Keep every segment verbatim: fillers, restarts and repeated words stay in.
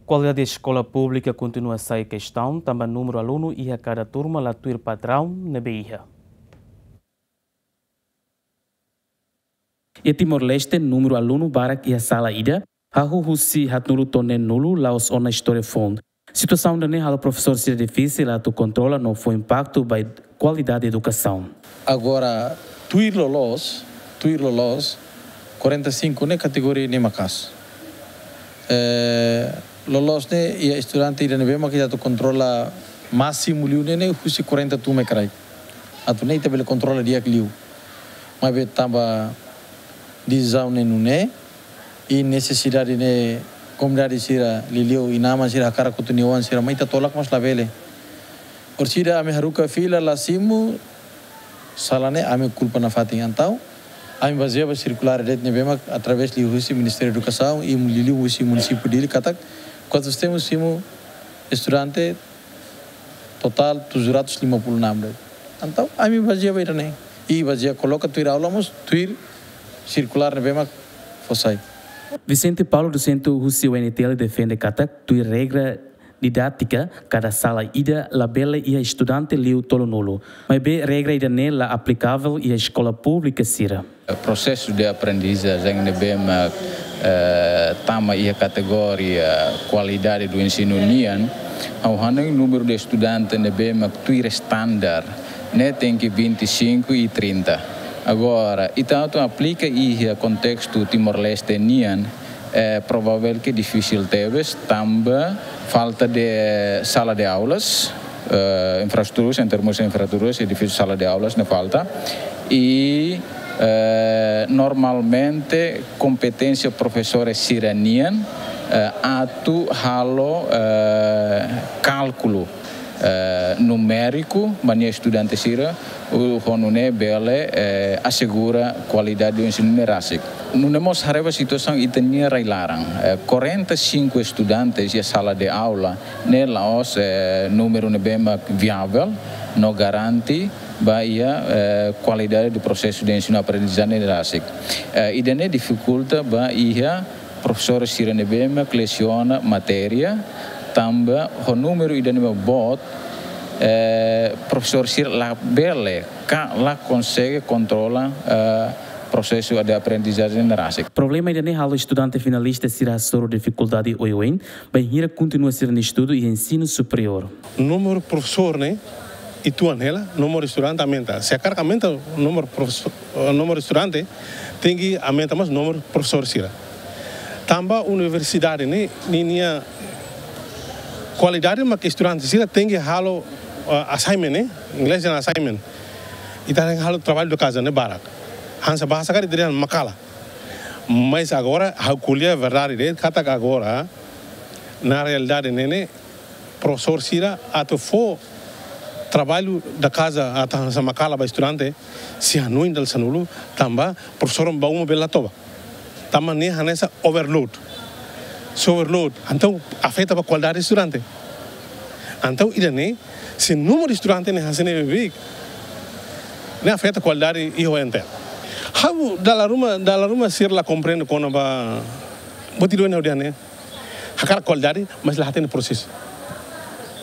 Kualidade eskola públika kontinua sai kestaun, tanba númeru alunu iha kada turma la tuir padraun ne'ebé iha. Iha Timor-Leste, númeru alunu barak iha sala ida, hahú husi haatnulu to'o neenulu, la'ós ona istória foun. Situasaun ida-ne'e halo profesór sira difisil atu kontrola no fó impaktu ba kualidade edukasaun. Agora, tuir loloos, tuir loloos, quarenta e cinco ne'e kategoria ne'e maka'as. Eh, loloos ne'e iha estudante ida ne'ebé mak ita atu kontrola másimu liu ne'e, ne'e husi quarenta turma kraik. Atu ne'e ita bele kontrola di'ak liu. Maibé tanba desizaun ne'e nune'e, i nesesidade ne'e komunidade sira, liuliu inan-aman sira hakarak kotu nia oan sira mai ita tolak, mas labele. Orsida ami haruka fila la simu sala ne'e, ami kulpa nafatin. Entaun ami bazeia ba sirkulár de'it ne'ebé mak através liuhusi Ministériu Edukasaun i liuliu husi munisípiu Dili katak kuantu temos simu estudante totál tujuh ratus lima puluh enam de'it. Entaun ami bazeia ba ida-ne'e. I bazeia koloka tuir aula mós tuir sirkulár ne'ebé mak fó sai. Vicente Paulo, dosente husi U N T L, defende katak tuir regra didátika, kada sala ida labele iha estudante liu tolunulu. Maibé regra ida-ne'e la aplikavel iha eskola públika sira. Prosesu de aprendizajen ne'ebé mak, eh, tama iha kategoria kualidade do ensinu nian, ha'u hanoin númeru de estudante ne'ebé mak tuir standar ne'e tenke vinte e cinco e trinta. Agora, ita atu aplika iha kontestu Timor-Leste nian, eh, provável ke difisil tebes, tanba falta de sala de aulas, eh, infraestruturas, em termos de infraestruturas, edifísiu sala de aulas ne'e falta. I, eh, normalmente kompeténsia profesores sira nian, eh, atu halo, eh, kálkulu, eh, numériku ba nia estudante sira, ho nune'e bele, eh, asegura kualidade do ensinu ne'e rasik. Nune'e mós haree ba situasaun ita-nia rai-laran. Eh, quarenta e cinco estudantes iha sala de aula ne'e la'ós, eh, númeru ne'ebé mak viável no garante ba iha, eh, kualidade do prosesu de ensinu aprendizajen ne'e rasik. Eh, ida-ne'e difikulta ba iha profesór sira ne'ebé mak lesiona matéria, tanba ho númeru ida-ne'e mak boot, eh, profesór sira labele ka la konsege kontrola, eh, prosesu de aprendizajen ne'e rasik. Problema ida-ne'e halo estudante finalista sira hasoru difikuldade oioin, bainhira kontinua sira-nia estudu iha ensinu superiór. Númeru profesór ne'e uitoan hela, númeru estudante aumenta. Se hakarak aumenta númeru profesór, eh, númeru estudante, tenke aumenta mós númeru profesór sira. Tanba universidade ne'e, ninia kualidade mak estudante sira tenke halo, eh, assignment ne'e, inglés dehan assignment. Ita halo trabalho de casa ne'e barak. Hanesan bahasa karik ita dehan makala. Mas agora, ha'u ko'alia verdade de'it, katak agora, na realidade ne'e, ne'e, profesór sira atu fó trabalho da casa atu hanesan makala ba estudante, sei hanoin dala sanulu, tanba profesór ba uma bele la toba. Tanba ne'e hanesan overload. Se overload, entaun afeta ba kualidade estudante. Entaun ida-ne'e, se númeru estudante ne'e hanesan ne'e beibeik, ne'e afeta kualidade iha U N T L. Ha'u dala ruma, dala ruma sira la komprende kona-ba, buat ida ne'e ha'u dehan ne'e. Hakarak kualidade, mas la hatene prosesu.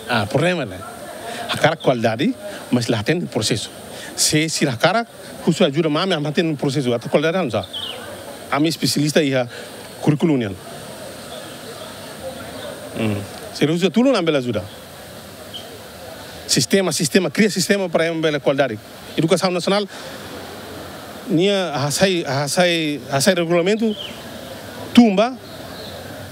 Ah, problema ne'e. Hakarak kualidade, mas la hatene prosesu. Se sira hakarak, husu ajuda mai ami, ami hatene prosesu. Atu kualidade hanesan. Ami espesialista iha kurríkulu nian. Hmm. Se husu tulun ami bele ajuda. Sistema, sistema, kria sistema para ema bele kualidade. Edukasaun nasionál nia hasai, hasai, hasai regulamentu tun ba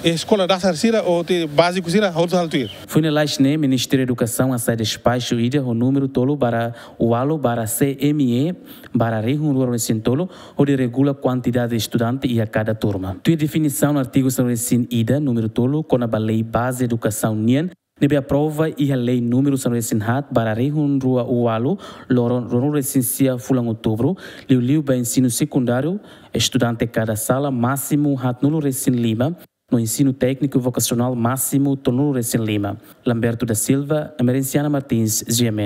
eskola dasar sira ou te báziku sira, hotu halo tuir. Foin lalais ne'e, Ministériu Edukasaun hasai despaxu ida ho númeru tolu barra ualu barra C M E barra rihun rua ruanulu-resin-tolu, hodi regula kuantidade estudante iha kada turma. Tuir definisaun artigu sanulu-resin-ida, númeru tolu, kona-ba Lei Baze Edukasaun nian, ne'ebé aprova iha Lei númeru sanulu-resin-haat barra rihun rua ualu, loron ruanulu-resin-sia fulan Outubru, liuliu ba ensinu sekundáriu, estudante kada sala másimu haatnulu-resin-lima, no ensinu tékniku vokasionál másimu tolunulu-resin-lima. Lamberto da Silva, Emerenciana Martins, G M N.